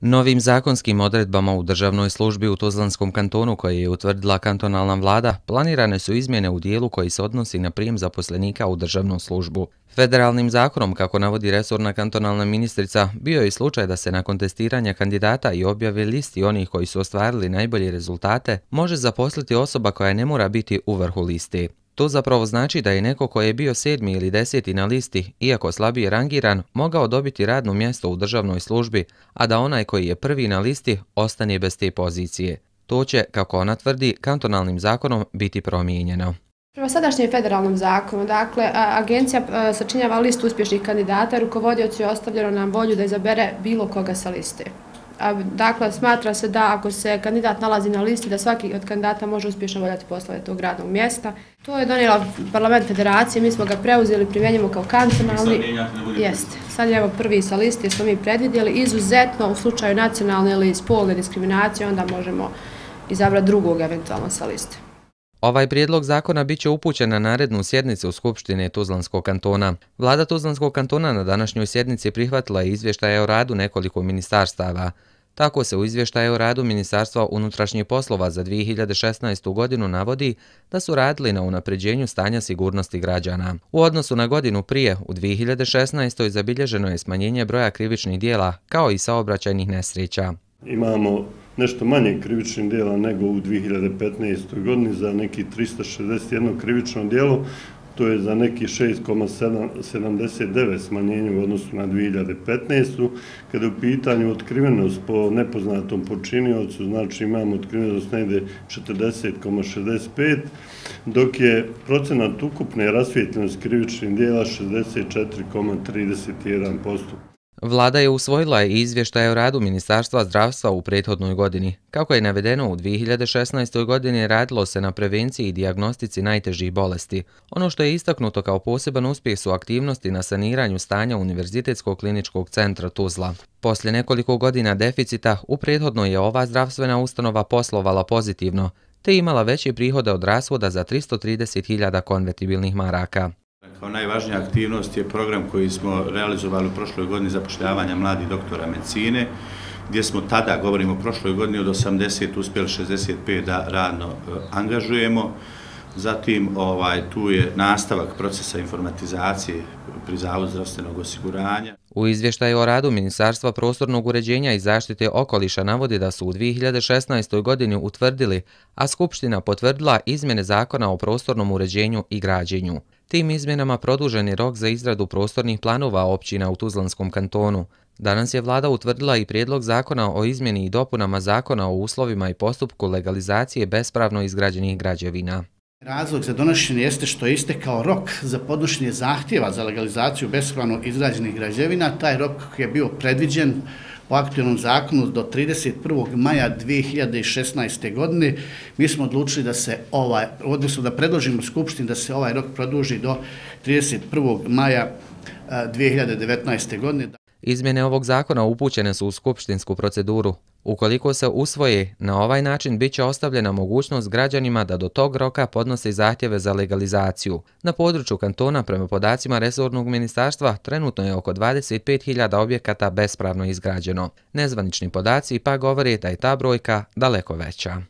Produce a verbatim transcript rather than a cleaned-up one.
Novim zakonskim odredbama u državnoj službi u Tuzlanskom kantonu koje je utvrdila kantonalna vlada, planirane su izmjene u dijelu koji se odnosi na prijem zaposlenika u državnu službu. Federalnim zakonom, kako navodi resorna kantonalna ministrica, bio je i slučaj da se nakon testiranja kandidata i objave listi onih koji su ostvarili najbolje rezultate, može zaposliti osoba koja ne mora biti u vrhu listi. To zapravo znači da je neko ko je bio sedmi ili deseti na listi, iako slabije rangiran, mogao dobiti radno mjesto u državnoj službi, a da onaj koji je prvi na listi ostane bez te pozicije. To će, kako ona tvrdi, kantonalnim zakonom biti promijenjeno. Prema sadašnjem federalnom zakonu, dakle, agencija sačinjava listu uspješnih kandidata, rukovodiocu je ostavljeno na volju da izabere bilo koga sa liste. Dakle, smatra se da ako se kandidat nalazi na listi, da svaki od kandidata može uspješno obavljati poslove tog radnog mjesta. To je donijela Parlament Federacije, mi smo ga preuzeli, primjenjujemo kao kantonalni. Jeste. Sad je evo prvi sa liste, smo mi predvidjeli. Izuzetno u slučaju nacionalne ili spolne diskriminacije, onda možemo izabrati drugog eventualno sa liste. Ovaj prijedlog zakona bit će upućen na narednu sjednicu Skupštine Tuzlanskog kantona. Vlada Tuzlanskog kantona na današnjoj sjednici prihvatila je izvještaje o radu nekoliko ministarstava. Tako se u izvještaju o radu Ministarstva unutrašnjih poslova za dvije hiljade šesnaestu. godinu navodi da su radili na unapređenju stanja sigurnosti građana. U odnosu na godinu prije, u dvije hiljade šesnaestoj. zabilježeno je smanjenje broja krivičnih djela kao i saobraćajnih nesreća. Imamo nešto manje krivičnih djela nego u dvije hiljade petnaestoj. godini za neki trista šezdeset jedno krivično djelo. To je za neki šest zarez sedamdeset devet smanjenje u odnosu na dvije hiljade petnaestu. Kada je u pitanju otkrivenost po nepoznatom počiniocu, znači imamo otkrivenost negdje četrdeset zarez šezdeset pet, dok je procenat ukupne rasvijetljenosti krivičnih djela šezdeset četiri zarez trideset jedan posto. Vlada je usvojila i izvještaj o radu Ministarstva zdravstva u prethodnoj godini. Kako je navedeno, u dvije hiljade šesnaestoj. godini radilo se na prevenciji i dijagnostici najtežih bolesti. Ono što je istaknuto kao poseban uspjeh su aktivnosti na saniranju stanja Univerzitetskog kliničkog centra Tuzla. Poslije nekoliko godina deficita, u prethodnoj je ova zdravstvena ustanova poslovala pozitivno, te imala veće prihode od rashoda za tristo trideset hiljada konvertibilnih maraka. Kao najvažnija aktivnost je program koji smo realizovali u prošloj godini zapošljavanja mladih doktora medicine, gdje smo tada, govorimo o prošloj godini, od osamdeset uspjeli šezdeset pet da radno angažujemo. Zatim ovaj, tu je nastavak procesa informatizacije pri Zavodu zdravstvenog osiguranja. U izvještaju o radu Ministarstva prostornog uređenja i zaštite okoliša navodi da su u dvije hiljade šesnaestoj. godini utvrdili, a Skupština potvrdila izmjene Zakona o prostornom uređenju i građenju. Tim izmjenama produžen je rok za izradu prostornih planova općina u Tuzlanskom kantonu. Danas je vlada utvrdila i prijedlog zakona o izmjeni i dopunama Zakona o uslovima i postupku legalizacije bespravno izgrađenih građevina. Razlog za donošenje jeste što je istekao rok za podnošenje zahtjeva za legalizaciju bespravno izgrađenih građevina. Taj rok je bio predviđen po aktualnom zakonu do trideset prvog maja dvije hiljade šesnaeste. godine. Mi smo odlučili da se ovaj, odnosno da predložimo Skupštini da se ovaj rok produži do trideset prvog maja dvije hiljade devetnaeste. godine. Izmjene ovog zakona upućene su u skupštinsku proceduru. Ukoliko se usvoje, na ovaj način bit će ostavljena mogućnost građanima da do tog roka podnose zahtjeve za legalizaciju. Na području kantona, prema podacima resornog ministarstva, trenutno je oko dvadeset pet hiljada objekata bespravno izgrađeno. Nezvanični podaci pa govore da je ta brojka daleko veća.